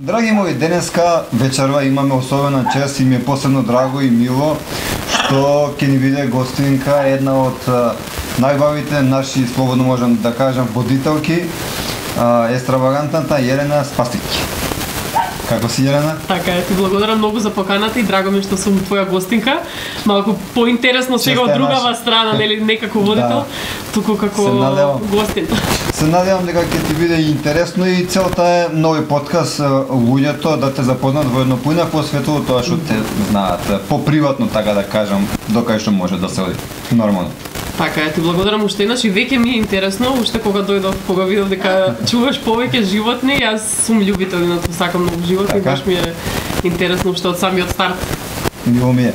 Драги мои, денеска вечерва имаме особена чест и ми е посебно драго и мило што ќе ни биде гостинка, една од најбавите наши, слободно можам да кажам, водителки, екстравагантната Јелена Спасик. Како си, Јелена? Така е, ти благодарам многу за поканата и драго ми што сум твоја гостинка. Малку поинтересно сега од другава страна, нели, не како водител, туку како гостин. Се надевам дека ќе ти биде интересно и целта е нови подкаст луѓето да те запознаат во едно поинакво светло од тоа што те знаат, поприватно така да кажам, докај што може да се оди. Нормално. Така е, ти благодарам уште еднаш и веќе ми е интересно, уште кога дојдов, кога видов дека чуваш повеќе животни, јас сум љубител на тоа, сакам многу животни, баш ми е интересно уште од самиот старт. Мило ми е.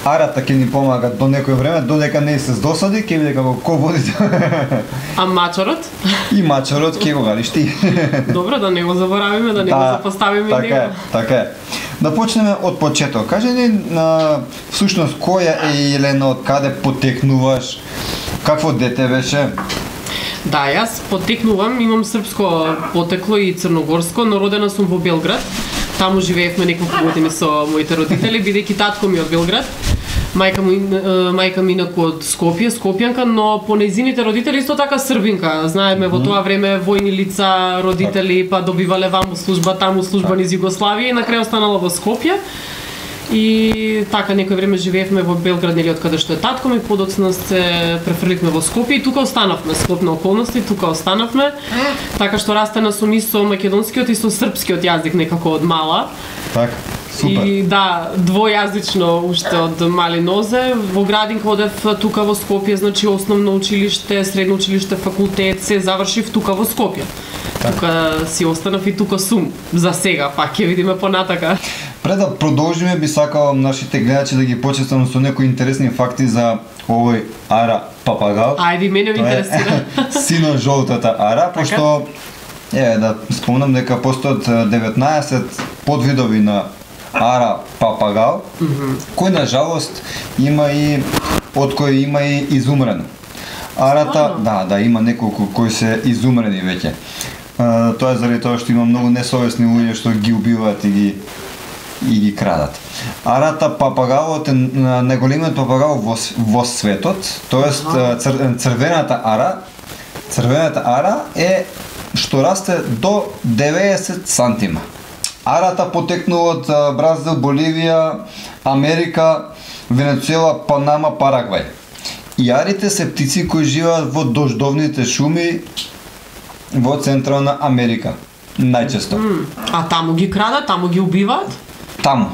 Арата ќе ни помага до некој време, додека не се досади, ќе биде како ко-водител. А мачорот? И мачорот ќе го галиш ти. Добро, да не го заборавиме, да не го запоставиме така него. Така е. Да почнеме од почеток. Кажи ни, всушност, која е Јелена, од каде потекнуваш, какво дете беше? Да, јас потекнувам, имам српско потекло и црногорско, но родена сум во Белград. Таму живеевме неколку години со моите родители, бидејќи татко ми од Белград. Мајка ми инаку од Скопје, скопјанка, но по нејзините родители исто така србинка. Знаеме во тоа време војни лица, родители па добивале ваму служба, таму служба низ Југославија и на крај останала во Скопје. И така некој време живеевме во Белград, нели, од каде што е татко ми, подоцна се префрливме во Скопје и тука останавме, склопна околности, тука останавме. Така што растена сум и со македонскиот и со српскиот јазик некако од мала. Така. Супер. И да, двојазично уште од мали нозе. Во градинка одев тука во Скопје, значи основно училиште, средно училиште, факултет, се завршив тука во Скопје. Так. Тука си останав и тука сум за сега, па ќе видиме понатака. Пред да продолжиме, би сакал нашите гледачи да ги почестам со некои интересни факти за овој ара папагал. Ајде, мене ме интересира. Сино жолтата ара, пошто да спомнам дека постојат 19 подвидови на ара папагал, кој на жалост има и од кои има и изумрено. Арата, да, има неколку кои се изумрени веќе. Тоа е заради тоа што има многу несовесни луѓе што ги убиваат и ги крадат. Арата папагалот е најголемиот папагал во светот, тоест црвената ара е што расте до 90 сантима. Арата потекнува од Бразил, Боливија, Америка, Венецуела, Панама, Парагвај. И арите се птици кои живеат во дождовните шуми во Централна Америка, најчесто. А таму ги крадат, таму ги убиваат? Таму.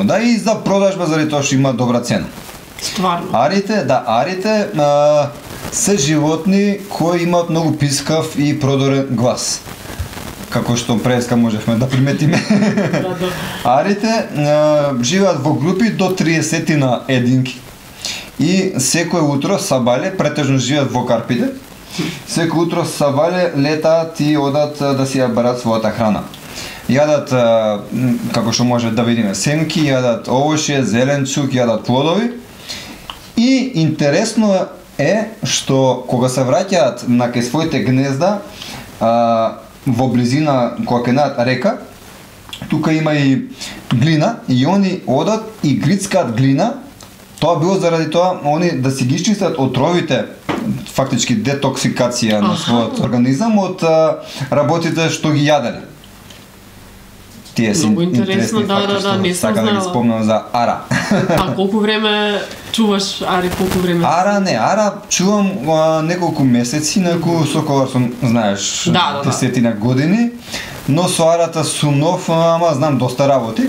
Да, и за продажба заради тоа што има добра цена. Стварно. Арите се животни кои имаат многу пискав и продорен глас. Како што преска можевме да приметиме. Арите живеат во групи до 30 на единки. И секој утро сабале, претежно живеат во карпите, секој утро сабале летаат и одат да си ја барат својата храна. Јадат, како што може да видиме, семки, јадат овошје, зеленчук, јадат плодови. И интересно е што кога се враќаат на кај своите гнезда, во близина кога ќе најдат река, тука има и глина и они одат и грицкаат глина. Тоа било заради тоа они да си ги изчистат отровите, фактички детоксикација на својот организам од работите што ги јаделе. Тие се интересни факти што не сака да ги спомнам за ара. А колку време чуваш ари, колку време? Ара чувам неколку месеци, неколку соколар сум, знаеш, десетина години, но со арата сум нов, ама знам доста работи.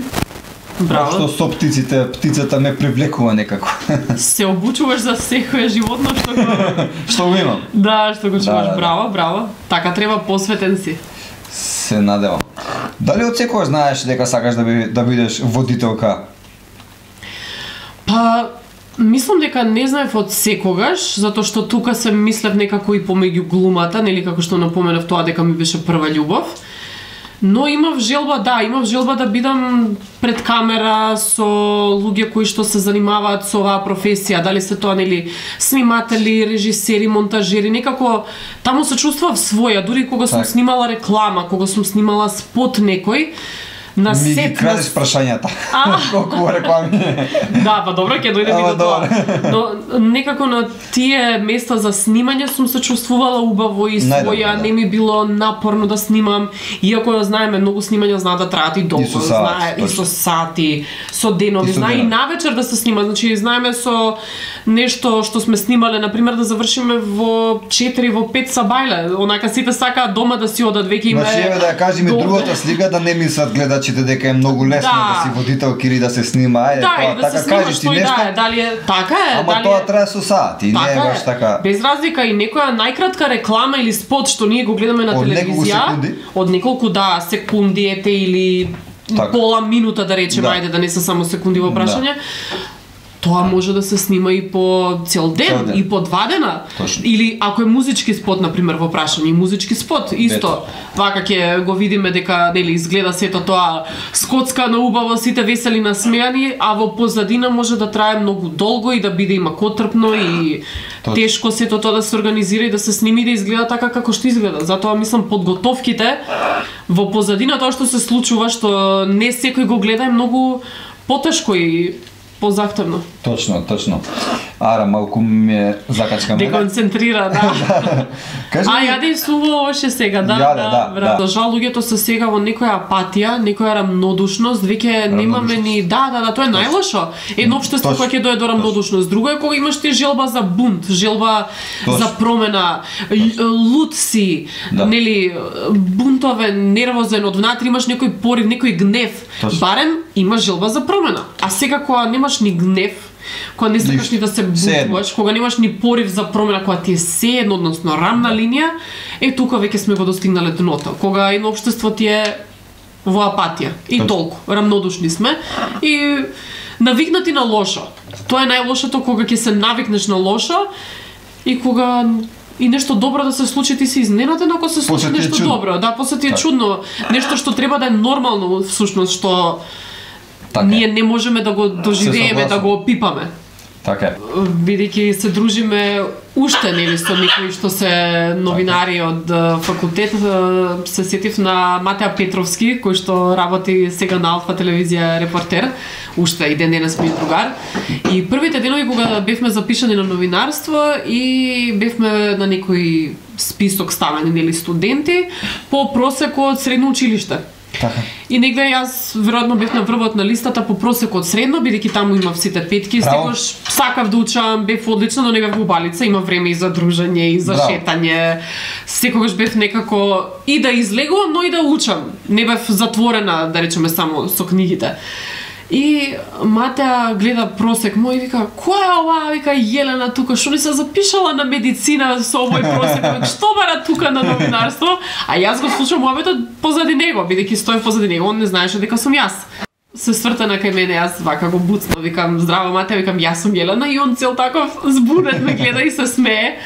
Браво. Што со птицата ме привлекува некако. Се обучуваш за секој животно што го имам. Да, што го чуваш. Браво. Така треба, посветен си. Се надевам. Дали од секој знаеш дека сакаш да бидеш водителка? Па, мислам дека не знаев од секогаш, затоа што тука се мислев некако и помеѓу глумата, нели, како што напоменав, тоа дека ми беше прва љубов. Но имав желба да бидам пред камера со луѓе кои што се занимаваат со оваа професија, дали се тоа нели сниматели, режисери, монтажери, некако таму се чувствував своја, дури кога сум снимала реклама, кога сум снимала спот некој, на сет. Ми ги крадеш прашањата. Колку реклами. Да, па добро, ќе дојдеме до тоа. Но некако на тие места за снимање сум се чувствувала убаво и своја, не ми било напорно да снимам, иако знаеме многу снимања знаат да траат и долго, и со сати, со денови, знае и навечер да се снима, значи знаеме со нешто што сме снимале, на пример да завршиме во 4, во 5 сабајле, онака сите сакаат дома да си одат, веќе има. Значи еве да кажеме другата слика, да не мислат гледачите дека е многу лесно да си водителки или да се снима, да, така кажеш ти нешто. Дали е така е, ама тоа трае со сати, не е баш така. Без разлика и некоја најкратка реклама или спот што ние го гледаме на телевизија, од неколку секунди ете или пола минута да речеме, ајде да не се само секунди во прашање. Тоа може да се снима и по цел ден, и по 2 дена. Точно. Или ако е музички спот, на пример, во прашање, музички спот, исто. Вака ќе го видиме дека нели изгледа сето тоа скоцкано убаво, сите весели насмеани, а во позадина може да трае многу долго и да биде и макотрпно и тешко сето тоа да се организира и да се сними и да изгледа така како што изгледа. Затоа мислам подготовките во позадина тоа што се случува, што не секој го гледа, е многу потешко и позахтевно. Точно. Ара, малку ме закачка мене. Деконцентрира, да. Јаде суво още сега, да. За жал, луѓето се сега во некоја апатија, некоја рамнодушност, веќе немаме ни... Да, тоа е најлошо. Едно општество кое ќе дое до рамнодушност. Друго е кога имаш ти желба за бунт, желба за промена, лут си, нели, бунтове, нервозен, од внатре имаш некој порив, некој гнев. Барем имаш желба за промена. А сега кога немаш ни гнев, кога не сакаш ни да се бунтуваш, кога немаш ни порив за промена, кога ти е сеедно, односно рамна линија, тука веќе сме го достигнале дното. Кога едно општество ти е во апатија и толку, рамнодушни сме и навикнати на лошо. Тоа е најлошото, кога ќе се навикнеш на лошо и кога и нешто добро да се случи, ти си изненаден ако се случи нешто добро. Да, после ти е чудно, нешто што треба да е нормално всушност, што ние не можеме да го доживееме, да го опипаме. Така. Бидејќи се дружиме уште нели со некои што се новинари од факултет, се сетив на Матеа Петровски, кој што работи сега на Алфа телевизија репортер, уште и ден денес ми другар. И првите денови кога бевме запишани на новинарство и бевме на некој список ставени нели студенти по просек од средно училиште. Така. И негде јас веројатно бев на врвот на листата по просек од средно, бидејќи таму имав сите петки, секогаш сакав да учам, бев одлично, но не бев убалица, има време и за дружење и за шетање. Секогаш бев некако и да излегувам, но и да учам. Не бев затворена, да речеме, само со книгите. И Матеа гледа просек мој и вика, која е ова? Вика, Јелена тука, што не се запишала на медицина со овој просек? Што бара тука на новинарство? А јас го слушам муабетот позади него, бидејќи стоев позади него, он не знаеше дека сум јас. Се свртана кај мене, јас вака го буцнав, викам, здраво Матеа, викам, јас сум Јелена, и он цел таков збунет ме гледа и се смее.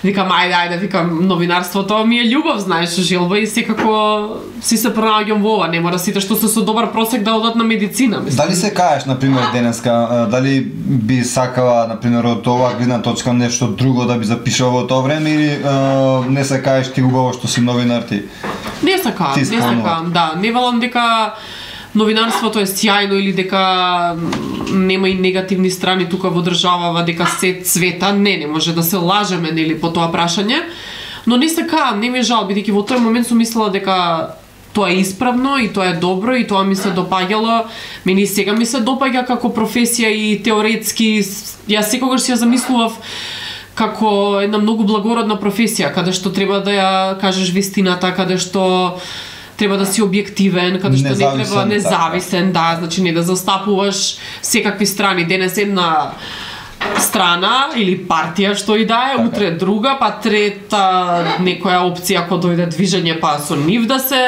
Викам, ајде, викам, новинарството ми е љубов, знаеш, желба и секако си се пронаоѓам во ова, не мора сите што се со добар просек да одат на медицина, мислам. Дали се каеш, например, денеска, дали би сакала, например, од оваа гледна точка нешто друго да би запишала во тоа време или не се каеш ти убаво што си новинар ти? Не се каам, да, не велам дека новинарството е сјајно или дека нема и негативни страни тука во државава, дека се цвета, не може да се лажеме нели по тоа прашање, но не се каам, не ми е жал, бидејќи во тој момент сум мислела дека тоа е исправно и тоа е добро и тоа ми се допаѓало, мене и сега ми се допаѓа како професија и теоретски, јас секогаш ја замислував како една многу благородна професија, каде што треба да ја кажеш вистината, каде што треба да си објективен, каде што не треба независен, да, значи не да застапуваш секакви страни. Денес една страна или партија што и да е, утре друга, па трета некоја опција ако дојде движење, па со нив да се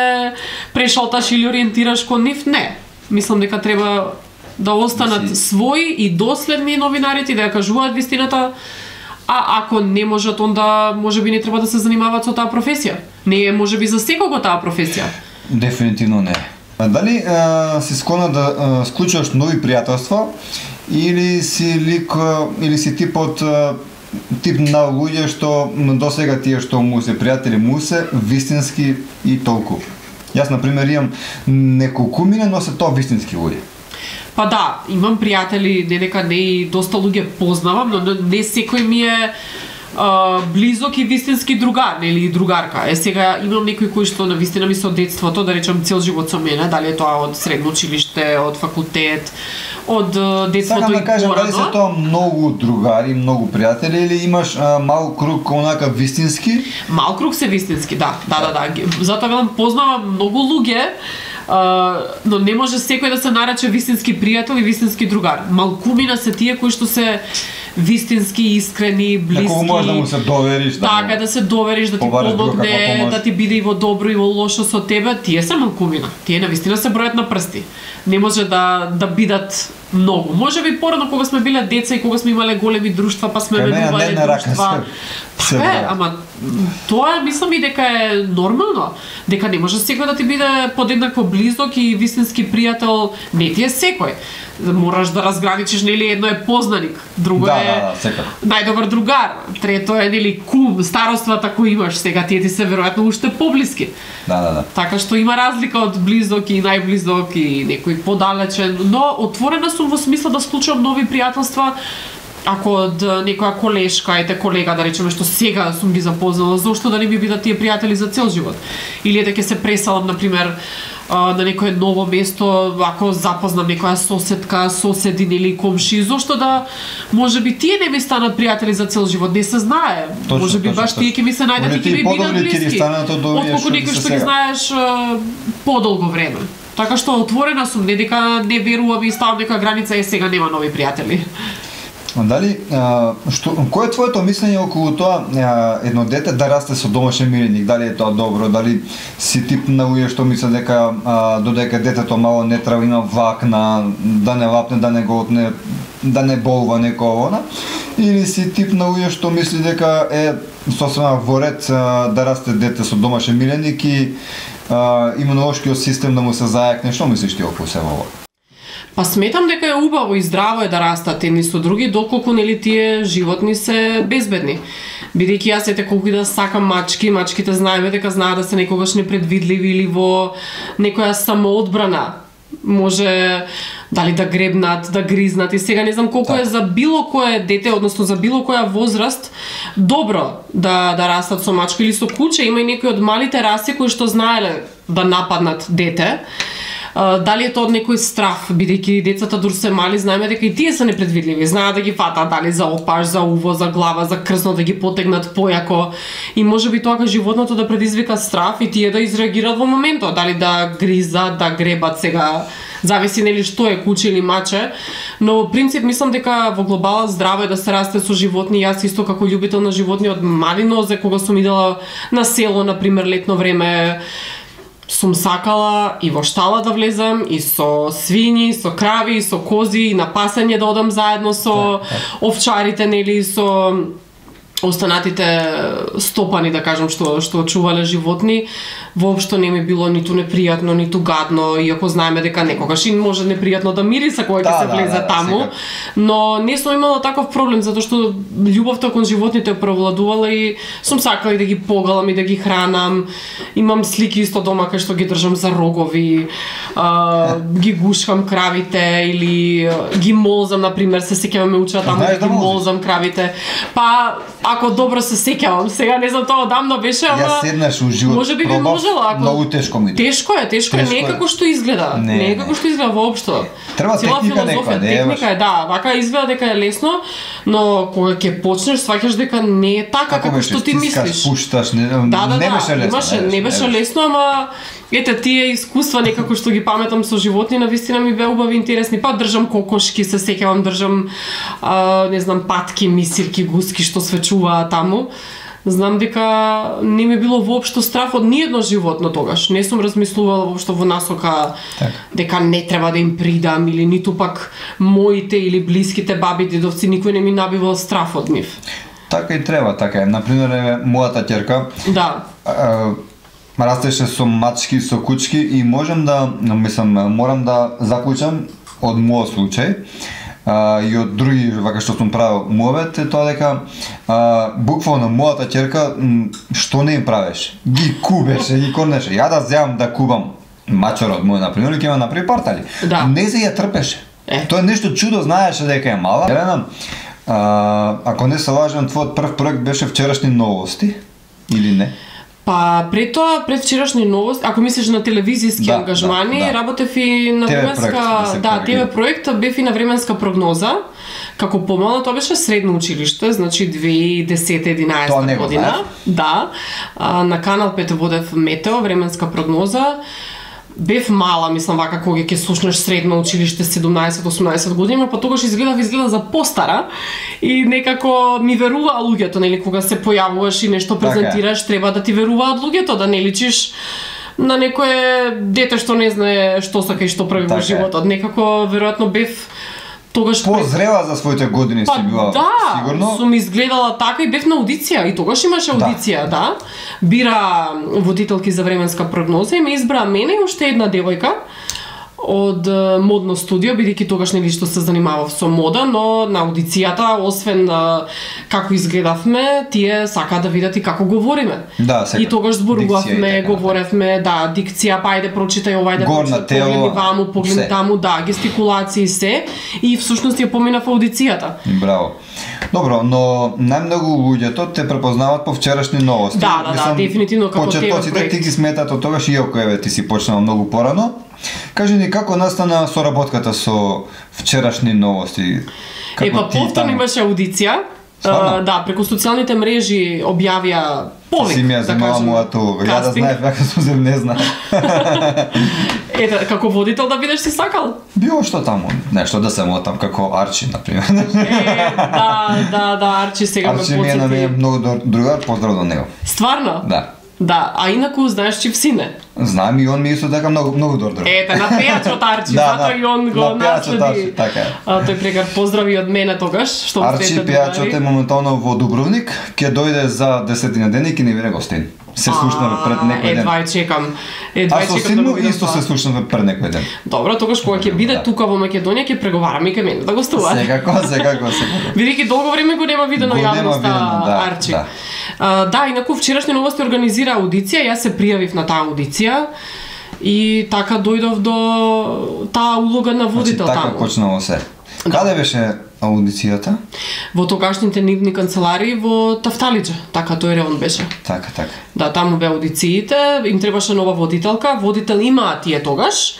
прешалташ или ориентираш кон нив, не. Мислам дека треба да останат своји и доследни новинарите да ја кажуваат вистината. А ако не можат, онда можеби не треба да се занимаваат со таа професија. Не е можеби за секого таа професија. Дефинитивно не. Дали си склона да склучуваш нови пријателства или си тип на луѓе што досега тие што му се пријатели му се вистински и толку? Јас на пример имам неколкумина, но се тоа вистински луѓе. Па да, имам пријатели, дека не и доста луѓе познавам, но не секој ми е близок и вистински другар, или другарка. Сега имам некои кои што навистина ми се од детството, да речем цел живот со мене, дали е тоа од средно училиште, од факултет, од детството и порано. Сакам да кажам, дали се тоа многу другари, многу пријатели или имаш мал круг онака вистински? Мал круг се вистински, да. Затоа велам познавам многу луѓе, но не може секој да се нарече вистински пријател и вистински другар. Малкумина се тие кои што се вистински, искрени, блиски. Некој може да му се довериш. Да се довериш, да ти помогне, да ти биде и во добро и во лошо со тебе, тие се малкумина. Тие навистина се бројат на прсти. Не може да бидат многу. Може би порано кога сме биле деца и кога сме имале големи друштва, па сме менувале друштва. Ама тоа мислам и дека е нормално. Дека не може секој да ти биде подеднакво близок и вистински пријател, не ти е секој. Мораш да разграничиш, нели, едно е познаник, друго е најдобар другар, трето е, нели, кум, староствата кои имаш, сега тие ти се веројатно уште поблиски. Да. Така што има разлика од близок и најблизок и некој подалечен, но отворена сум во смисла да склучувам нови пријателства. Ако од некоја колешка, колега, да речеме, што сега сум ги запознала, зошто да не ми бидат тие пријатели за цел живот? Или дека се преселам, например, на некое ново место, ако запознам некоја соседка, соседин или комши, зошто да можеби тие не ми станат пријатели за цел живот, не се знае. Можеби баш тие ќе ми се најдат и ќе ми бидат блиски. Отколку некој што ги знаеш подолго време. Така што отворена сум, не дека не верувам и ставам некоја граница и сега нема нови пријатели. Дали кој е твоето мислење околу тоа едно дете да расте со домашен миреник? Дали е тоа добро? Дали си тип на луѓе што мислат дека додека детето мало не треба има вакна, да не лапне, да не го отне, да не болва некоја? Или си тип на луѓе што мисли дека е сосема во ред да расте дете со домашен миреник и имунолошкиот систем да му се зајакне? Што мислиш ти околу себе ова? Па сметам дека е убаво и здраво е да растат едни со други, доколку нели тие животни се безбедни. Бидејќи јас колку и да сакам мачки, мачките знаеме дека знаат да се некогаш непредвидливи или во некоја самоодбрана. Може дали да гребнат, да гризнат и сега не знам колку е за било кое дете, односно за било која возраст, добро да растат со мачка или со куче. Има и некои од малите раси кои што знаеле да нападнат дете. Дали е тоа од некој страх, бидејќи децата дур се мали, знаеме дека и тие се непредвидливи, знаат да ги фатат дали за опаш, за уво, за глава, за крсно, да ги потегнат појако и можеби тоа животното да предизвика страх и тие да изреагираат во моментот, дали да гризат, да гребат, сега зависи нели што е куче или маче, но во принцип мислам дека во глобала здраво е да се расте со животни. Јас исто како љубител на животни од мали нозе, кога сум идела на село, на пример летно време, сум сакала и во штала да влезам, и со свињи, со крави, и со кози, и на пасење да одам заедно со овчарите, нели, со останатите стопани, да кажам, што чувале животни. Воопшто не ми било ниту непријатно, ниту гадно, иако знаеме дека некогаш и може непријатно да мириса кога ќе се влезе таму, но не сум имала таков проблем, затоа што љубовта кон животните превладувала и сум сакала и да ги погалам и да ги хранам. Имам слики исто дома кај што ги држам за рогови, ги гушкам кравите или ги молзам, например, се сеќавам ме учат таму да ги молзам кравите. Па ако добро се сеќавам, сега не знам тоа одамно беше, ама ја седнаш у живот, може би би можела, ако многу тешко ми. Тешко е, не е како што изгледа. Не е како што изгледа воопшто. Треба техника некоја, техника е, да, вака изгледа дека е лесно, но кога ќе почнеш сваќаш дека не е така како што ти мислиш. Пушташ, не беше лесно. Не беше лесно, ама ете тие искуства некако што ги паметам со животни, навистина ми беа убави, интересни. Па држам кокошки, се сеќавам, држам не знам патки, мисирки, гуски што свечуваат таму. Знам дека не ми било воопшто страф од ниедно животно тогаш. Не сум размислувала воопшто во насока дека не треба да им придам или ниту пак моите или блиските баби, дедовци, никој не ми набивал страф од нив. Така и треба, така е. Например, мојата ќерка. Да. растеше со мачки, со кучки и морам да заклучам од мојот случај и од други вака што сум правил мовет е тоа дека буквално мојата ќерка што не им правеше, ги кубеше, ги корнеше. Ја да земам да кубам мачорот мој например, ќе ме направи партали. Да. Не се ја трпеше. Тоа е нешто чудо, знаеше дека е мала. Елена, ако не се лажам, твојот прв проект беше вчерашни новости или не? Па пред тоа, пред вчерашни новости, ако мислиш на телевизиски ангажмани, работев и на временска, ТВ проект, бев и на временска прогноза. Како помална, тоа беше средно училиште, значи 2010-11 година. Да. На Канал 5 водев Метео, временска прогноза. Бев мала, мислам вака кога ќе слушнеш средно училиште 17-18 години, па тогаш изгледа за постара и некако ми веруваа луѓето, нели, кога се појавуваш и нешто презентираш, треба да ти веруваат луѓето, да не личиш на некое дете што не знае што сака и што прави во животот. Некако веројатно бев тогаш позрела за своите години си била сигурно. Сум изгледала така и бев на аудиција и тогаш имаше аудиција, да. Бира водителки за временска прогноза и ме избра мене и уште една девојка од модно студио, бидејќи тогаш нели што се занимавав со мода, но на аудицијата, освен како изгледавме, тие сака да видат и како говориме. Да, и тогаш зборувавме, говоревме, да, дикција, па ајде прочитај ова, ајде прочитај, погледни ваму, погледни таму, да, гестикулации се, и всушност ја поминав аудицијата. Браво. Добро, но најмногу луѓето те препознаваат по вчерашни новости. Да, дефинитивно како ТВ проект. Ти ги сметат од тогаш, иако еве ти си почнал многу порано. Кажи ни како настана соработката со вчерашни новости? Па повторно имаше аудиција. Да, преку социјалните мрежи објавија повик, си ми ја земала мојата улога. Ја да знаев, вака сум не знае. Ете, како водител да бидеш си сакал? Било што таму, нешто да се мотам како Арчи, например. Да, Арчи сега ме подсети. Арчи ми е на мене многу другар, поздрав до него. Стварно? Да. Да, а инаку знаеш чиј сине? Знам и он ми исто така многу добро. Ете, на пејачот Арчи, затоа и он го наследи. Така е. Тој прекар поздрави од мене тогаш, што Арчи пејачот е моментално во Дубровник, ќе дојде за 10 дена и ќе ни биде гостин. Се слушнаве пред некој ден. Едва чекам. А со син му исто се слушнаве пред некој ден. Добро, тогаш кога ќе биде тука во Македонија ќе преговараме и кај мене да гостува. Секако. Бидејќи долго време го нема видено јавноста Арчи. Да, инаку вчерашни новости организира аудиција, јас се пријавив на таа аудиција и така дојдов до таа улога на водител таму. Така почнало се. Каде беше аудицијата? Во тогашните нивни канцеларии во Тафталиџа, така тој реон беше. Така. Да, таму бе аудициите, им требаше нова водителка, водител имаа тие тогаш.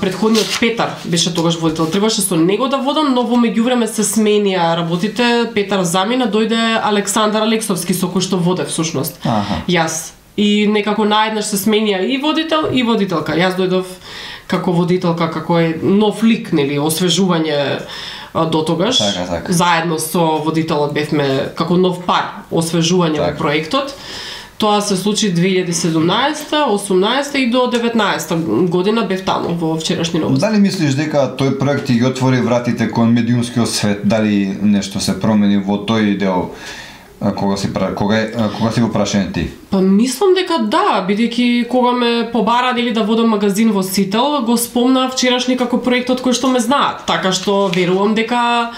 Претходниот Петар беше тогаш водител, требаше со него да водам, но во меѓувреме се сменија работите, Петар замина, дојде Александар Алексовски со кој што воде всушност. Јас. И некако наеднаш се сменија и водител и водителка. Јас дојдов како водителка, како е нов лик, нели, освежување до тогаш. Така. Заедно со водителот бевме како нов пар, освежување во проектот. Тоа се случи 2017, 18 и до 19 година бев таму во вчерашни новости. Дали мислиш дека тој проект ги отвори вратите кон медиумскиот свет? Дали нешто се промени во тој дел? Кога си го прашен ти? Па мислам дека да, бидејќи кога ме побара дали да водам магазин во Сител, го спомна вчерашни како проектот кој што ме знаат, така што верувам дека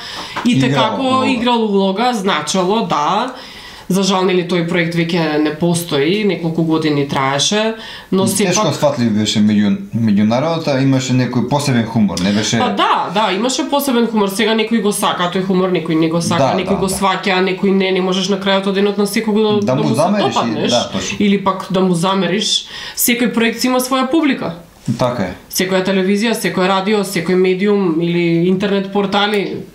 и текако играл улога, значало да. За жал, нели, тој проект веќе не постои, неколку години траеше, но сепак... Тешко сватлив беше меѓу народот, а имаше некој посебен хумор, не беше... Па да, имаше посебен хумор, сега некој го сака тој хумор, некој не го сака, некој го сваќа, некој не можеш на крајот од денот на секој да му се допаднеш, или пак да му замериш. Секој проект си има своја публика. Така е. Секоја телевизија, секој радио, секој медиум или интернет портали.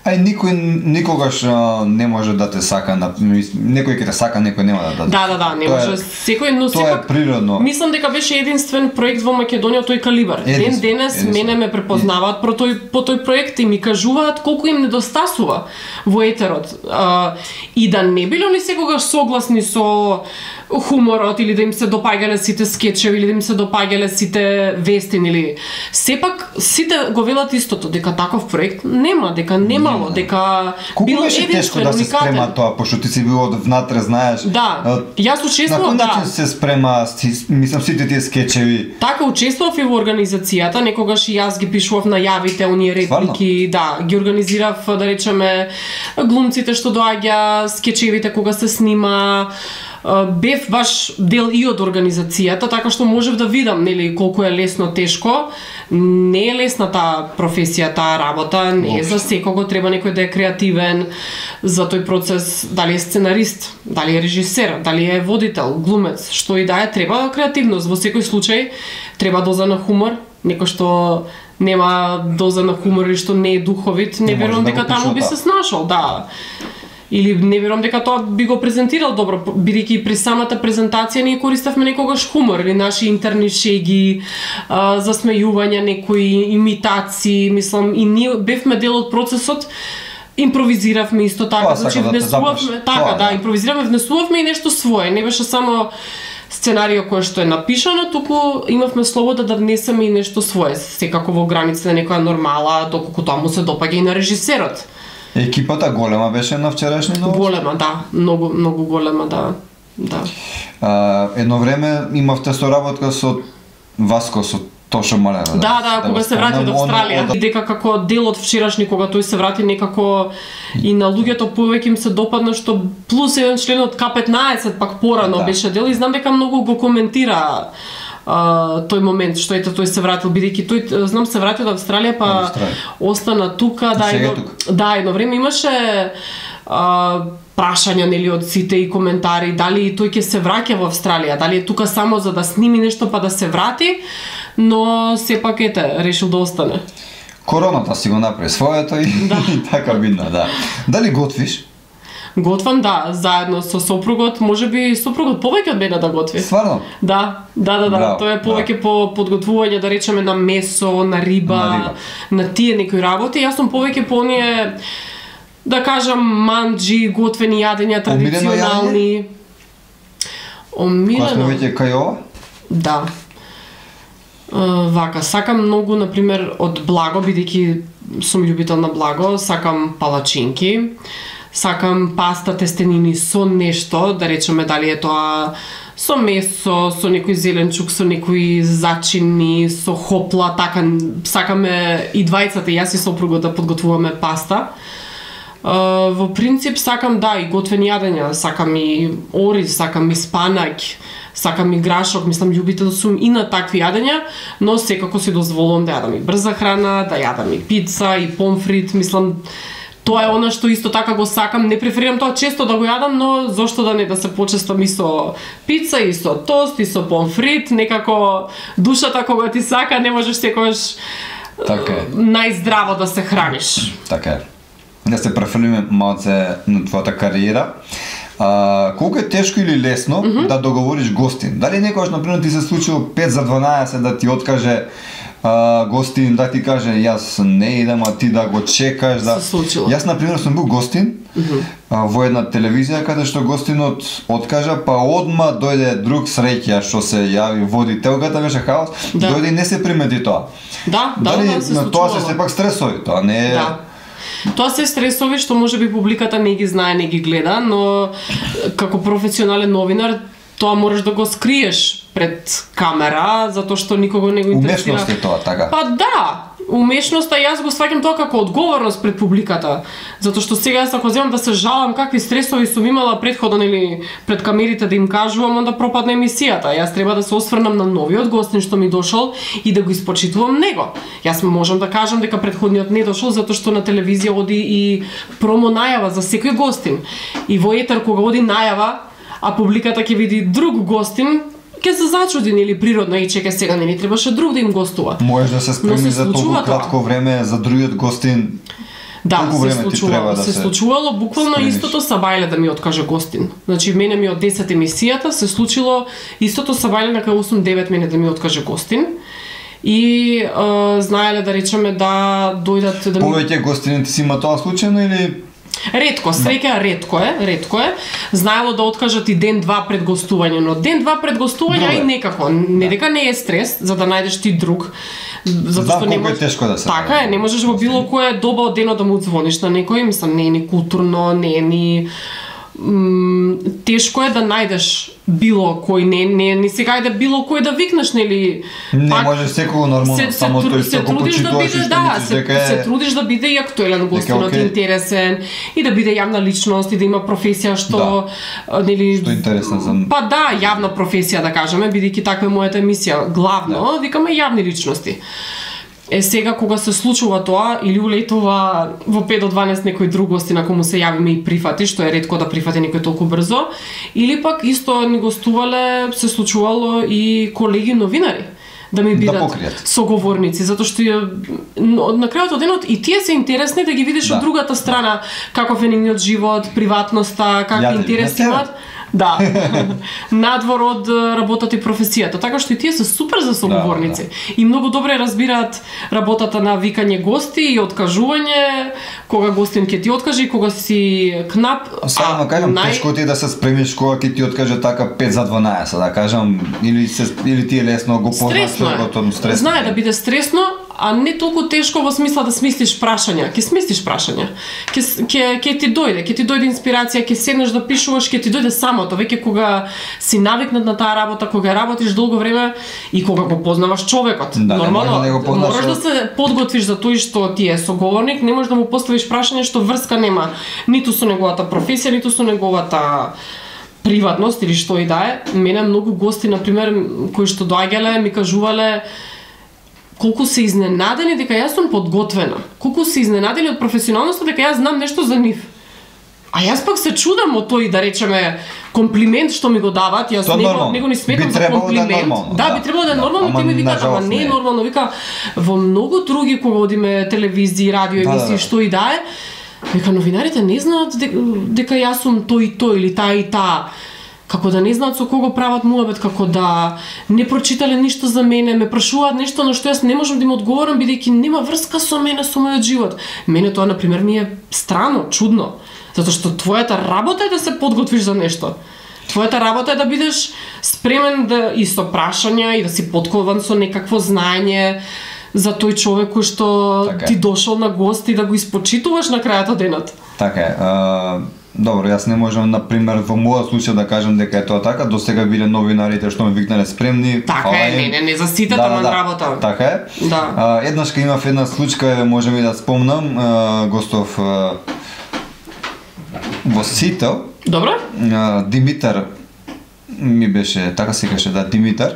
Никој никогаш не може да те сака, некој ќе те сака, некој нема да. Да, не може секој, но тоа е природно. Мислам дека беше единствен проект во Македонија тој калибар. Ден денес мене ме препознаваат по тој проект и ми кажуваат колку им недостасува во етерот. И да не биле они секогаш согласни со хуморот или да им се допаѓале сите скечеви или да им се допаѓале сите вестини или сепак сите го велат истото дека таков проект нема, дека немало, дека бил тешко да се спрема тоа, пошто ти си бил од внатре, знаеш. Да, јас учествував, на кој начин се спрема, мислам, сите тие скечеви. Така, учествував и во организацијата, некогаш и јас ги пишував најавите, оние реплики, да, ги организирав, да речеме, глумците што доаѓа, скечевите кога се снима, бев баш дел и од организацијата, така што можев да видам, нели, колку е лесно, тешко. Не е лесна таа професија, таа работа, не е за секого, треба некој да е креативен за тој процес, дали е сценарист, дали е режисер, дали е водител, глумец, што и да е, треба креативност. Во секој случај треба доза на хумор, некој што нема доза на хумор или што не е духовит, не верувам дека таму би се снашол, да. Или не верувам дека тоа би го презентирал добро, бидејќи при самата презентација ние користавме некогаш хумор или наши интерни шеги, засмејувања, некои имитации, мислам, и ние бевме дел од процесот, импровизиравме исто така, значи внесувавме, така, да, импровизиравме, внесувавме и нешто свое, не беше само сценарио кое што е напишано, туку имавме слобода да внесеме и нешто свое, секако во границите на некоја нормала, доколку тоа му се допаѓа и на режисерот. Екипата голема беше на вчерашни новости? Голема, да, многу голема, да. Едно време имавте соработка со Васко, со Тошо Малена. Да, кога се врати од Австралија. Дека како дел од вчерашни, кога тој се врати, некако и на луѓето повеќе им се допадна што плюс еден член од К15 пак порано беше дел и знам дека многу го коментира тој момент што ето тој се вратил, бидејќи тој знам се врати од Австралија, па остана тука, да, едно време имаше прашања, нели, од сите и коментари дали тој ќе се враќа во Австралија, дали е тука само за да сними нешто па да се врати, но сепак решил да остане. Короната си го направи своето и така видно, да. Дали готвиш? Готвам, да, заедно со сопругот, можеби сопругот повеќе од мене да готви. Стварно? Да, тој е повеќе по подготвување, да речеме, на месо, на риба, на тие некои работи. Јас сум повеќе по оние, да кажам, манџи, готвени јадења, традиционални. Омилено. Кога сме веќе кај ова? Да. Вака, сакам многу, например, од благо, бидејќи сум љубител на благо, сакам палачинки. Сакам паста, тестенини со нешто, да речеме дали е тоа со месо, со некој зеленчук, со некои зачини, со хопла, така сакаме и двајцата, јас и сопругот да подготвуваме паста. Во принцип сакам, да, и готвени јадења, сакам и ориз, сакам и спанаќ, сакам и грашок, мислам, љубител сум и на такви јадења, но секако си дозволувам да јадам и брза храна, да јадам и пица, и помфрит, мислам, тоа е она што исто така го сакам, не преферирам тоа често да го јадам, но зошто да не да се почестам и со пица, и со тост, и со помфрит, некако душата кога ти сака, не можеш секогаш најздраво да се храниш. Така е. Да се префрлиме малце на твојата кариера. Колку е тешко или лесно да договориш гостин? Дали некогаш, например, ти се случило 5 за 12 да ти откаже гостин, да ти каже јас не идам, а ти да го чекаш, да. Јас например сум бил гостин во една телевизија каде што гостинот откажа, па одма дојде друг среќа што се јави водителката, беше хаос, дојде и не се примети тоа. Да, се случувало. Тоа се сепак стресови, тоа не е. Тоа се стресови што можеби публиката не ги знае, не ги гледа, но како професионален новинар тоа можеш да го скриеш пред камера, затоа што никого не го интересира. Умешност е тоа, така? Па да, умешноста, јас го сваќам тоа како одговорност пред публиката. Затоа што сега јас ако земам да се жалам какви стресови сум имала претходно или пред камерите да им кажувам, онда пропадне емисијата. Јас треба да се осврнам на новиот гостин што ми дошол и да го испочитувам него. Јас можам да кажам дека претходниот не дошол затоа што на телевизија оди и промо најава за секој гостин. И во етер кога оди најава, а публиката ќе види друг гостин, ќе се зачуди, или природно, и чека сега не требаше друг да им гостува. Можеш да се спреми за толку кратко време за другиот гостин. Да, се случувало буквално истото Сабајле да ми откаже гостин. Значи мене ми од 10 емисијата се случило истото Сабајле на кај 8-9 мене да ми откаже гостин. И знаеле да речеме да дојдат да ми... Повеќе гостини ти си има тоа случајно или Ретко, среќа ретко е. Знаело да откажат и ден-два пред гостување, но ден-два пред гостување и некако, не дека не е стрес за да најдеш ти друг. Затоа што колку е тешко да се. Така е, не можеш во било која доба од денот да му звониш на некој, мислам, не е ни културно, не е ни тешко е да најдеш било кој, не сега да било кој да викнеш, нели? Не може секој нормално, само тој што го почитуваш и што мислиш дека е... Се трудиш да биде и актуелен гостинот, интересен, и да биде јавна личност, и да има професија што... нели... Што е интересна за... Па да, јавна професија, да кажеме, бидејќи таква е мојата емисија. Главно, викаме јавни личности. Сега кога се случува тоа или улетува во 5 до 12 некој друг гостин, ако му се јавиме и прифати, што е ретко да прифати некој толку брзо, или пак исто ни гостувале, се случувало и колеги новинари да ми бидат соговорници, затоа што на крајот од денот и тие се интересни да ги видиш од другата страна каков е нивниот живот, приватноста, какви интереси имаат. Да, надвор од работата и професијата, така што и тие се супер за соговорници и многу добре разбираат работата на викање гости и откажување, кога гостин ќе ти откаже и кога си кнап. Само кажам, тешко ти е да се спремиш кога ќе ти откаже така 5 за 12, да кажам, или ти е лесно го познаш човекот, стресно. Знае да биде стресно, а не толку тешко во смисла да смислиш прашања. Ќе смислиш прашања. Ќе ти дојде инспирација, ќе седнеш да пишуваш, ќе ти дојде самото, веќе кога си навикнат на таа работа, кога работиш долго време и кога го познаваш човекот. Нормално, мораш да се подготвиш за тој што ти е соговорник, не можеш да му поставиш прашање што врска нема ниту со неговата професија, ниту со неговата приватност или што и да е. Мене многу гости, на пример, кои што доаѓале, ми кажувале колку се изненадени дека јас сум подготвена, колку се изненадени од професионалноста дека јас знам нешто за нив. А јас пак се чудам од тој, да речеме, комплимент што ми го дават, јас него не сметам за комплимент. Да, би требало да е нормално, ти ми викаат, ама не е нормално, вика во многу други кога одиме телевизија, радио емисии, што и да е, вика новинарите не знаат дека јас сум тој и тој или таа и таа. Како да не знаат со кого прават муабет, како да не прочитале ништо за мене, ме прашуваат нешто на што јас не можам да им одговорам бидејќи нема врска со мене, со мојот живот. Мене тоа на пример ми е странно, чудно, затоа што твојата работа е да се подготвиш за нешто. Твојата работа е да бидеш спремен да и со прашања и да си подкован со некакво знаење за тој човек кој што ти дошол на гост и да го испочитуваш на крајот од денот. Така е. Добро, јас не можам, например, во мојот случај да кажам дека е тоа така, до сега биле новинарите што ме викнале спремни. Така е, не за сите таман работа. Така е. Да. Еднаш кога имав една случка, можем и да спомнам, гостов во Сител. Добро. Димитар ми беше, така се каже, Димитар.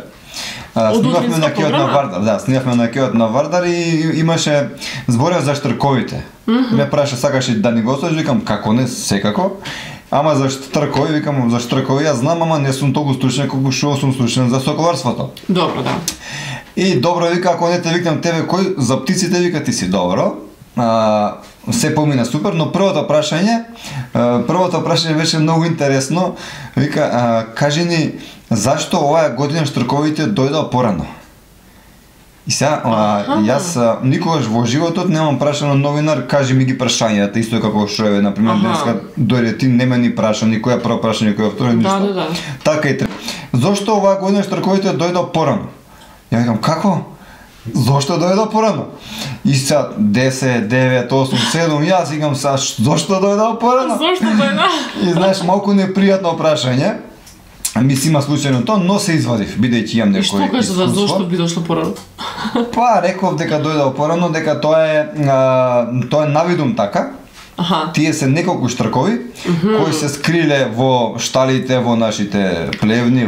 Снимавме на кеот на Вардар, снимавме на кеот на Вардар и имаше зборев за штрковите. Ме праша сакаш да ни го слушаш, викам како не, секако. Ама за штркови, викам за штркови јас знам, ама не сум толку стручен колку што сум стручен за соколарството. Добро, да. И добро, вика, ако не те викнам тебе кој за птиците, вика ти си добро. Се помина супер, но првото прашање беше многу интересно. Вика, кажи ни зашто оваа година штрковите дојдоа порано? И сега, јас никогаш во животот немам прашано новинар, кажи ми ги прашањата, исто како што е, например, денеска дојде ти, не ме ни праша, никоја прво прашање, никоја второ, ништо. Да. Така и треба. Зошто оваа година штрковите дојдоа порано? Ја викам, како? Зошто дојдоа порано? И сега 10, 9, 8, 7, јас викам сега, зошто дојдоа порано? Зошто дојдоа? И знаеш, малку непријатно прашање. Мислима случајно тоа, но се извадив, бидејќи имам некој искуство. И што кажа, зошто би дошло порано? Па, реков дека дојдоа порано, дека тоа е навидум така. Тие се неколку штркови кои се скриле во шталите, во нашите плевни,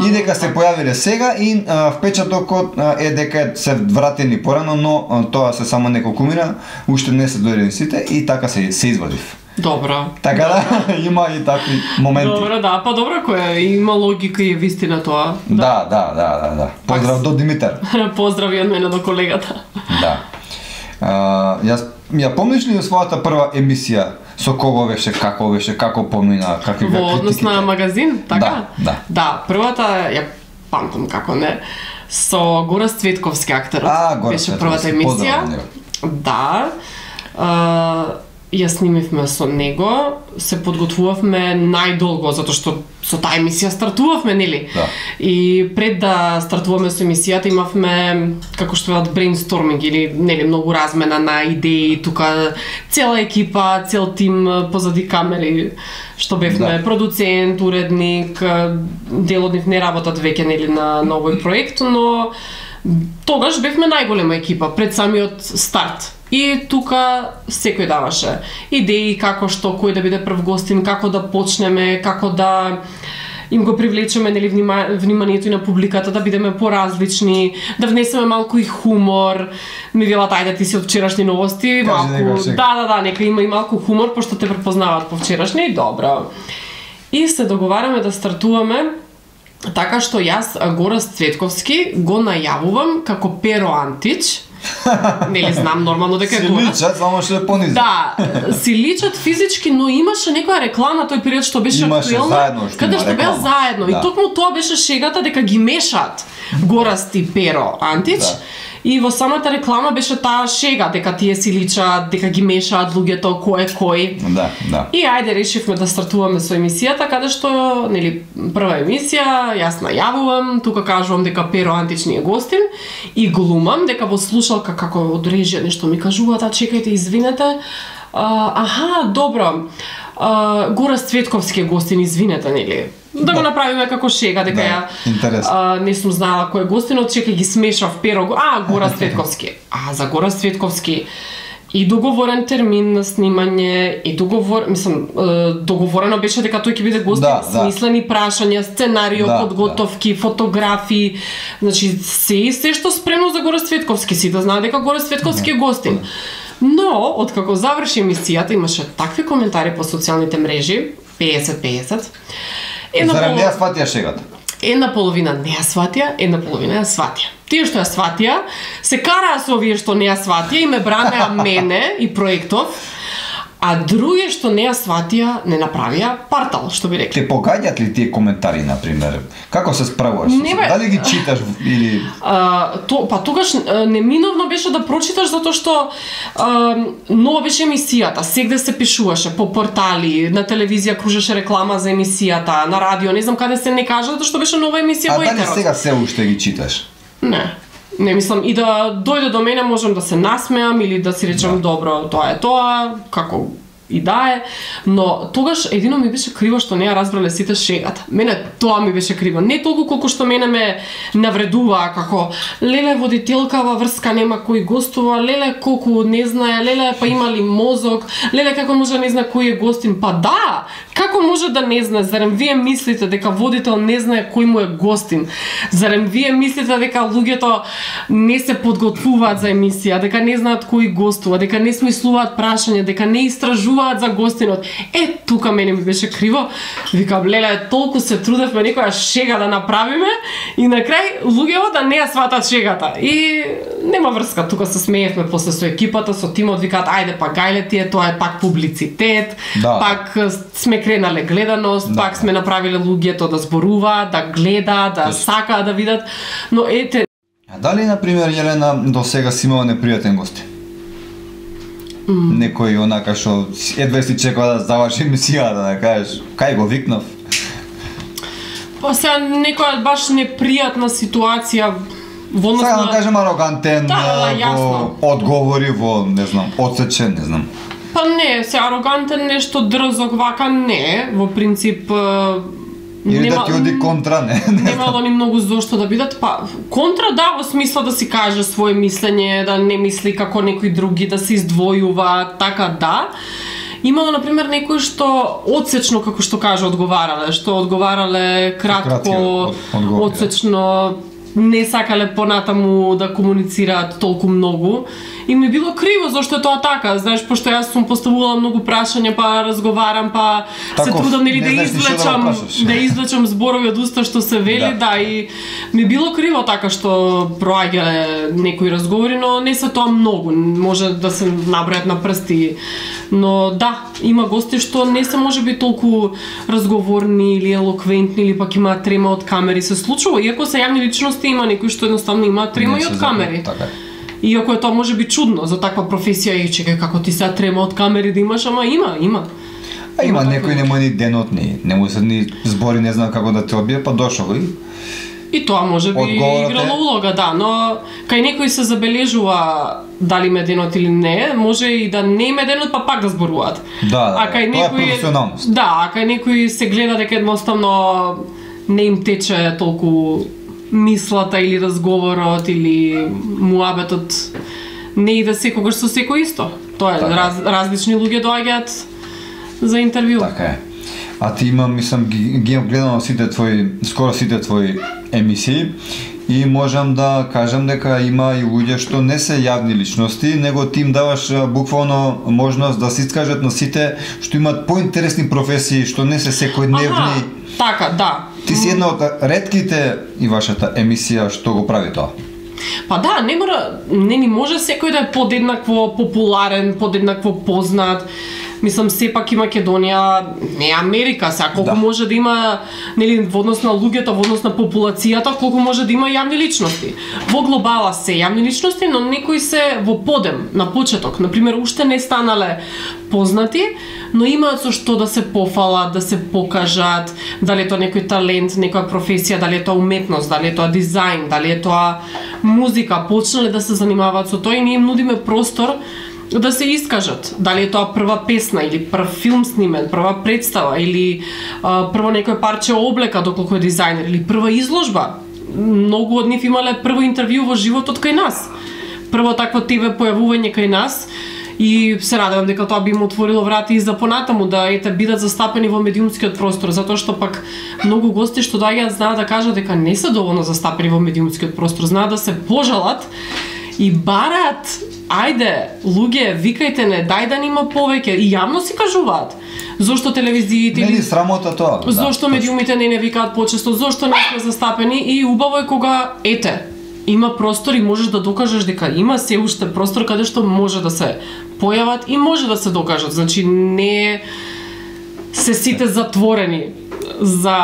и дека се појавиле сега и впечатокот е дека се вратени порано, но тоа се само неколку мина, уште не се дојдени сите и така се извадив. Добро. Така да, има и такви моменти. Добро, да, па добро, која има логика и вистина тоа. Да. Поздрав до Димитар. Поздрави од мене до колегата. Да. Јас ја помниш ли својата прва емисија со кого беше, како помина, какви беа критиките? Во однос на магазин, така? Да. Да, првата ја памтам како не, со Горас Цветковски актерот. Беше првата емисија. Да. ја снимивме со него, се подготвувавме најдолго, затоа што со таа емисија стартувавме, нели? Да. И пред да стартуваме со емисијата имавме, како што велат, брейнсторминг или нели многу размена на идеи, тука цела екипа, цел тим позади камери, што бевме продуцент, уредник, дел од нив не работат веќе нели на овој проект, но тогаш бевме најголема екипа пред самиот старт. И тука секој даваше идеи како што, кој да биде прв гостин, како да почнеме, како да им го привлечеме нели вниманието и на публиката, да бидеме поразлични, да внесеме малку и хумор. Ми велат ајде ти си од вчерашни новости, малку. Да, нека има и малку хумор пошто те препознаваат по вчерашни, добро. И се договараме да стартуваме така што јас Гораст Цветковски го најавувам како Pero Antić. Нели знам нормално дека е Гораст. Си личат, само што е пониза. Да, си личат физички, но имаше некоја реклама тој период што беше актуелна, каде што беа заедно. И токму тоа беше шегата дека ги мешаат Гораст и Pero Antić. И во самата реклама беше таа шега дека тие си личат, дека ги мешаат луѓето кој е кој. Да. И ајде решивме да стартуваме со емисијата, каде што нели прва емисија, јас најавувам, тука кажувам дека Pero Antić ни е гостин и глумам дека во слушалка како од режија нешто ми кажуваат, чекајте, извинете. Добро. Гораст Цветковски е гостин, извинете, нели? Да го направиме како шега, дека ја не сум знаела кој е гостинот, чекај ги смешав Pero, Гораст Цветковски. За Гораст Цветковски и договорен термин на снимање, и договорено беше дека тој ќе биде гостин, смислени прашања, сценарио, подготовки, фотографии, значи се што спремно за Гораст Цветковски, си да знае дека Гораст Цветковски е гостин. Но, откако заврши емисијата, имаше такви коментари по социјалните мрежи, 50-50. Зарем не ја сватија шегата? Една половина не ја сватија, една половина ја сватија. Тие што ја сватија, се караа со овие што не ја сватија и ме бранеа мене и проектов, а други што не ја сватија, не направија партал, што би рекли. Те погаѓаат ли тие коментари, например? Како се справуваш? Дали ги читаш или... Тогаш неминовно беше да прочиташ, затоа што нова беше емисијата, сегде се пишуваше по портали, на телевизија кружеше реклама за емисијата, на радио, не знам каде се не кажа, затоа што беше нова емисија во етерот. Дали сега се уште ги читаш? Не мислам, и да дојде до мене можам да се насмеам или да си речам добро, тоа е тоа, како и да е, но тогаш едино ми беше криво што не ја разбрале сите шегата. Мене тоа ми беше криво. Не толку колку што мене ме навредува, како леле водителкава врска нема кој гостува, леле колку не знае, леле па има ли мозок, леле како може да не знае кој е гостин. Па да, како може да не знае? Зарем вие мислите дека водител не знае кој му е гостин? Зарем вие мислите дека луѓето не се подготвуваат за емисија, дека не знаат кој гостува, дека не смислуваат прашања, дека не истражуваат за гостинот? Тука мене ми беше криво. Викам, леле, толку се трудевме некоја шега да направиме и на крај луѓето да не ја сватат шегата. И нема врска, тука се смеевме после со екипата, со тимот, викаат, ајде па гајле тие, тоа е пак публицитет, пак сме кренале гледаност, пак сме направиле луѓето да зборуваат, да гледаат, да сакаат да видат. Но дали, например, Јелена, до сега си имала непријатен гости? Некој онака што едва си чекава да заврши емисијата, да кажеш, кај го викнав? Па сега некоја баш непријатна ситуација во однос на... Сега да кажем арогантен, во одговори, во, не знам, одсечен, не знам. Па не, се арогантен, нешто дрзок, вака не, во принцип... Или да ти оди контра, не? Немало ни многу зошто да бидат, па контра да, во смисла да си каже свое мислење, да не мисли како некои други, да се издвојува, така да. Имало, например, некои што одсечно, како што каже, одговарале кратко, одсечно, не сакале понатаму да комуницираат толку многу. И ми било криво зашто е тоа така, знаеш, пошто јас сум поставувала многу прашања, па разговарам, па се трудам нели да извлечам зборови од уста што се вели, и ми било криво така што проаѓале некои разговори, но не се тоа многу, може да се набројат на прсти. Но да, има гости што не се можеби толку разговорни или елоквентни или пак имаат трема од камери, се случува, иако се јавни личности, има некои што едноставно имаат трема и од камери. Иако е тоа може би чудно за таква професија и чекај како ти сега трема од камери да имаш, ама има. А има некој не му ни денот не му се ни збори, не знам како да те одбие, па дошол и тоа може би играло улога, да, но кај некој се забележува дали ме денот или не, може и да не име денот, па пак да зборуваат. Да, тоа е професионалност. Да, а кај некој се гледа дека едноставно не им тече толку мислата или разговорот или муабетот не иде секогаш со секој исто. Тоа е, различни луѓе доаѓаат за интервју. Така е. А ти мислам, ги гледам скоро сите твои емисии и можам да кажам дека има и луѓе што не се јавни личности, него ти им даваш буквално можност да се искажат на сите што имаат поинтересни професии, што не се секојдневни. Така, да. Ти си една од ретките и вашата емисија што го прави тоа. Па да, не ни може секој да е подеднакво популарен, подеднакво познат. Мислам, сепак и Македонија не е Америка, сега колку може да има, нели, во однос на луѓето, во однос на популацијата, колку може да има јавни личности. Во глобала се јавни личности, но некои се во подем, на почеток. Например, уште не станале познати, но имаат со што да се пофалат, да се покажат, дали е тоа некој талент, некоја професија, дали е тоа уметност, дали е тоа дизајн, дали е тоа музика, почнале да се занимаваат со тоа и ние им нудиме простор да се искажат. Дали е тоа прва песна или прв филм снимен, прва представа или прво некој парче облека доколку е дизајнер или прва изложба. Многу од нив имале прво интервју во животот кај нас. Прво такво ТВ појавување кај нас и се радевам дека тоа би им отворило врати и за понатаму да бидат застапени во медиумскиот простор, затоа што пак многу гости што доаѓаат знаат да кажат дека не се доволно застапени во медиумскиот простор, знаат да се пожалат и бараат, ајде, луѓе, викајте не, дај да нима повеќе, и јавно си кажуваат. Зошто телевизиите или срамота тоа? Зошто медиумите не викаат почесто, зошто не сме застапени и убаво е кога има простор и можеш да докажеш дека има се уште простор каде што може да се појават и може да се докажат. Значи не се сите затворени за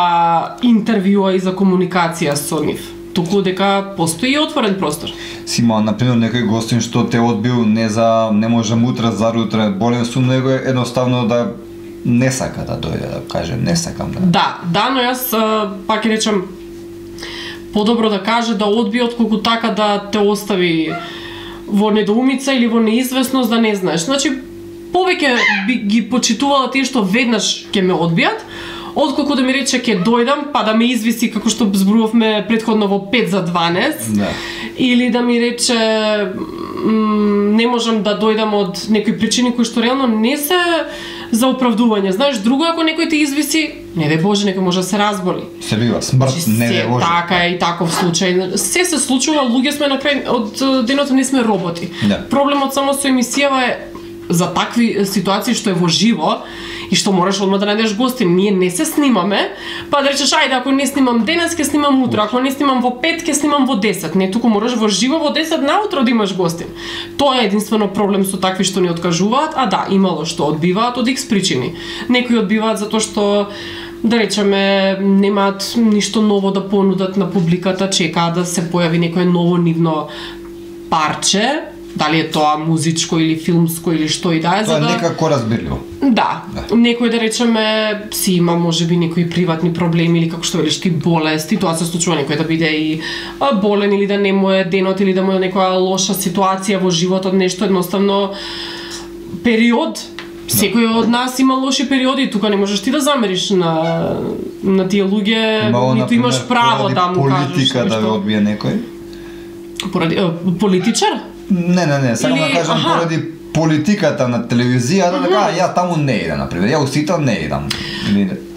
интервјуа и за комуникација со нив. Туку дека постои отворен простор. Си имал, например, некој гостин што те одбил не можам утре, зарутре, болен сум, него едноставно да не сака да дојде, да кажем, не сакам да. Да, но јас пак речам подобро да каже да одби отколку така да те остави во недоумица или во неизвестност да не знаеш. Значи, повеќе би ги почитувала тие што веднаш ќе ме одбијат, отколку да ми рече ќе дојдам, па да ме извиси како што зборувавме претходно во 5 за 12, или да ми рече не можам да дојдам од некои причини кои што реално не се за оправдување. Знаеш, друго ако некој те извиси, не дај Боже, некој може да се разболи. Се бива смрт, не дај Боже. Така е и таков случај. Се случува, луѓе сме на крај од денот не сме роботи. Проблемот само со емисијава е за такви ситуации што е во живо и што мораш одма да најдеш гости. Ние не се снимаме, па да речеш ајде ако не снимам денес ќе снимам утре, ако не снимам во 5 ќе снимам во 10. Не, туку мораш во живо во 10 наутро да имаш гости. Тоа е единствено проблем со такви што ни откажуваат, а да, имало што одбиваат од X причини. Некои одбиваат затоа што да речеме немаат ништо ново да понудат на публиката, чекаат да се појави некое ново нивно парче, дали е тоа музичко или филмско или што и да е, тоа е некако разбирливо. Да, некој да речеме си има можеби некои приватни проблеми или како што велиш ти болест, и тоа се случува некој да биде и болен или да не му е денот или да му е некоја лоша ситуација во животот, нешто едноставно период. Секој од нас има лоши периоди, тука не можеш ти да замериш на тие луѓе, ниту имаш право да му кажеш. Политика да ве одбие некој? Поради политичар? Не, само да кажам поради политиката на телевизија, да кажа, ја таму не идам, например, ја устител не идам.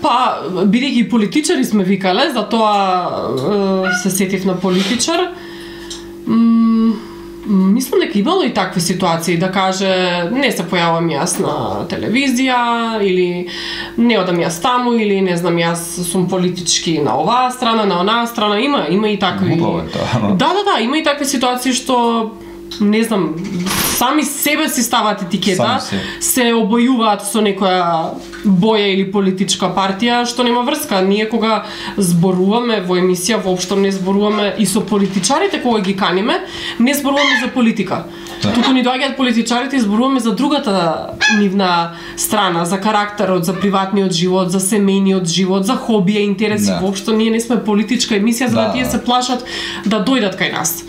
Па, бидејќи политичари сме викале, затоа се сетив на политичар. Мислам дека имало и такви ситуации, да каже, не се појавам јас на телевизија, или не одам јас таму, или не знам, јас сум политички на оваа страна, на онаа страна, има и такви. Глупаво е тоа. Да, има и такви ситуации што не знам, сами себе си стават етикета, се обојуваат со некоја боја или политичка партија, што нема врска. Ние кога зборуваме во емисија, воопшто не зборуваме и со политичарите кога ги каниме, не зборуваме за политика. Туку ни доаѓаат политичарите и зборуваме за другата нивна страна, за карактерот, за приватниот живот, за семејниот живот, за хобија, интереси. Воопшто ние не сме политичка емисија, за да тие се плашат да дојдат кај нас.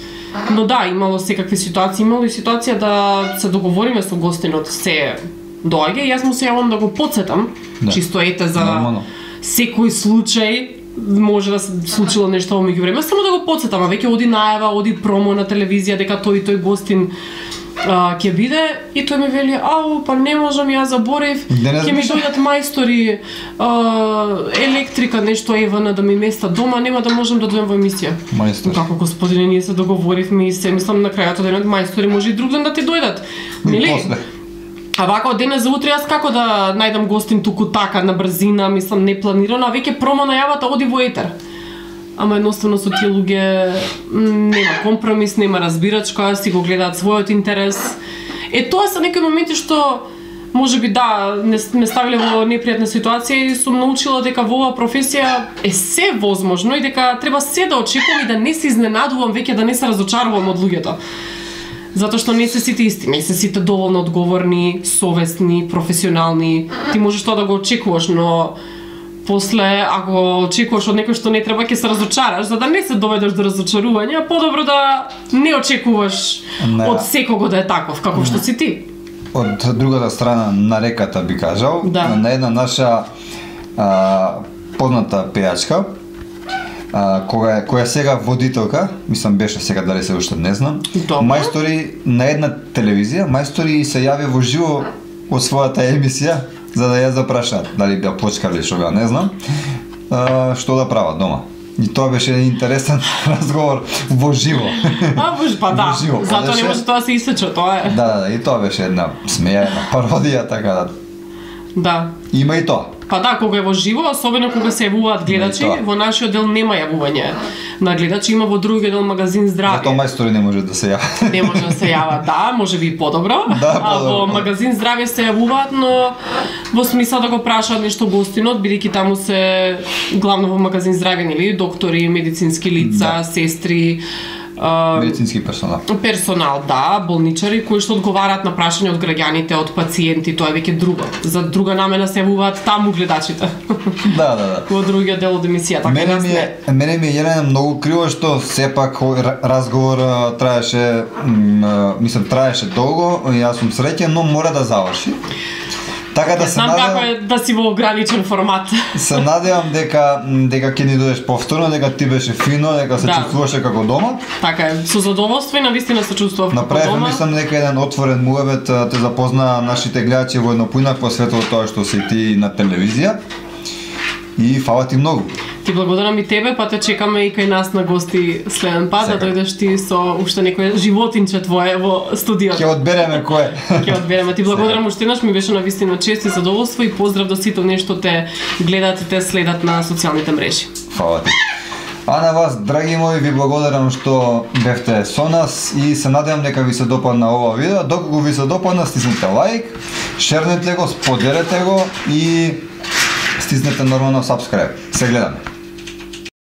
Но да, имало секакви ситуации, имало и ситуација да се договориме со гостинот, се доаѓа и јас му се јавам да го потсетам, чисто ете за секој случај, може да се случило нешто во меѓувреме, само да го потсетам, а веќе оди најава, оди промо на телевизија дека тој гостин ќе биде и тој ми вели, ау, па не можам, ја заборев, ќе ми дојдат мајстори, електрика, нешто ЕВН да ми места дома, нема да можам да дојдам во емисија. Мајстор. Како господине, ние се договоривме и се мислам на крајот денот мајстори може и друг ден да ти дојдат. Нели? А вака од денес за утре јас како да најдам гостин туку така на брзина, мислам не планирано, а веќе промо најавата оди во етер. Ама едноставно со тие луѓе нема компромис, нема разбирачка, си го гледаат својот интерес. Тоа се некои моменти што можеби да ме ставиле во непријатна ситуација и сум научила дека во оваа професија е се возможно и дека треба се да очекувам и да не се изненадувам, веќе да не се разочарувам од луѓето. Затоа што не се сите исти, не се сите доволно одговорни, совесни, професионални. Ти можеш тоа да го очекуваш, но после, ако очекуваш од некој што не треба, ќе се разочараш, за да не се доведеш до разочарување, подобро да не очекуваш од секого да е таков, како што си ти. Од другата страна на реката би кажал, на една наша позната пејачка, која сега водителка, мислам беше сега, дали се уште не знам, мајстори на една телевизија, мајстори се јави во живо од својата емисија, за да ја запрашаат, дали беа почкали што беа, не знам, што да прават дома. И тоа беше интересен разговор во живо. Па да, затоа не може тоа се исече, тоа е. Да, и тоа беше една смеја, една пародија, така да. Да. Има и тоа. Па да, кога е во живо, особено кога се јавуваат гледачи, во нашиот дел нема јавување на гледачи, има во другиот дел магазин Здравје. Затоа мајстори не може да се јават. Не може да се јават, да, може би и подобро. А во магазин Здравје се јавуваат, но во смисла да го прашаат нешто гостинот, бидејќи таму се главно во магазин Здравје, нели, доктори, медицински лица, сестри, медицински персонал. Персонал, да, болничари кои што одговараат на прашања од граѓаните, од пациенти, тоа е веќе друго. За друга намена се јавуваат таму гледачите. Да. Во другиот дел од емисијата. Мене ми е Елена многу криво што сепак разговор траеше, мислам траеше долго, јас сум среќен, но мора да заврши. Така да се надевам како е да си во ограничен формат. Се надевам дека ќе ни дојдеш повторно, дека ти беше фино, дека се чувствуваше како дома. Така е, со задоволство и навистина се чувствував како дома. Направив мислам дека еден отворен муабет те запозна нашите гледачи во едно поинак по светот тоа што си ти на телевизија. И фала ти многу. Ти благодарам и тебе, па те чекаме и кај нас на гости следен пат, да дојдеш ти со уште некој животинче твое во студиото. Ќе одбереме кој. Ќе одбереме. Ти благодарам уште еднаш, ми беше навистина чест и задоволство и поздрав до сите оние што те гледаат и те следат на социјалните мрежи. Фала ти. А на вас, драги мои, ви благодарам што бевте со нас и се надевам дека ви се допадна ова видео. Доколку ви се допадна, стиснете лайк, шернете го, споделете го и стиснете нормално subscribe. Се гледаме.